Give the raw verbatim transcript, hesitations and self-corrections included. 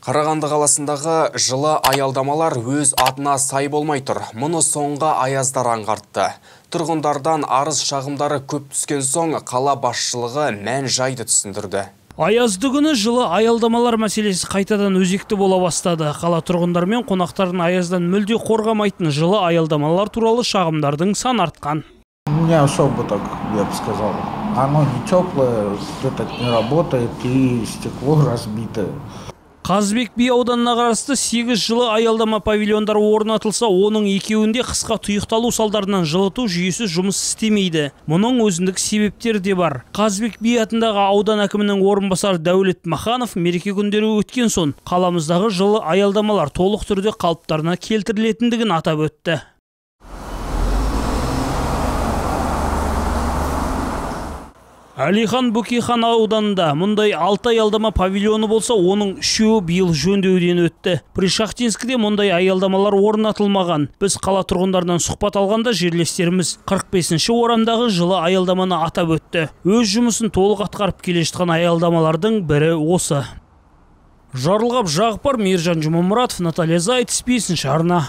Қарағанды қаласындағы жылы аялдамалар өз атына сай болмай тұр. Мұны соңғы аяздар аңғартты. Тұрғындардан арыз шағымдары көп түскен соң қала басшылығы мән жайды түсіндірді. Аязды күні жылы аялдамалар мәселесі қайтадан өзекті бола бастады. Қала тұрғындар мен қонақтарын аяздан мүлде қорғамайтын жылы аялдамалар туралы шағымдардың сан артқан. Не особо так, я бы сказал. Оно не теплое, этот не работает и стекло разбитое. Қазыбек би ауданына қарасты сегіз жылы аялдама павильондары орнатылса, оның екеуінде қысқа тұйықталу салдарынан жылыту жүйесі жұмыс істемейді. Мұның өзіндік себептері де бар. Қазыбек би атындағы аудан әкімінің орынбасары Дәулет Маханов мереке күндері өткен соң қаламыздағы жылы аялдамалар толық түрде қалыптарына келтірілетіндігін атап өтті. Әлихан Бөкейхан ауданында мұндай алты аялдама павильоны болса, оның үшеуі биыл жөндеуден өтті. Пришахтинскіде мұндай аялдамалар орнатылмаған. Біз қала тұрғындарынан сұхбат алғанда жерлестеріміз қырық бесінші орамдағы жылы аялдаманы атап өтті. Өз жұмысын толық атқарып келе жатқан аялдамалардың бірі осы. Жарылғап Жағыпар, Мейіржан Жұмамұратов, Наталья Зайт, бесінші арна.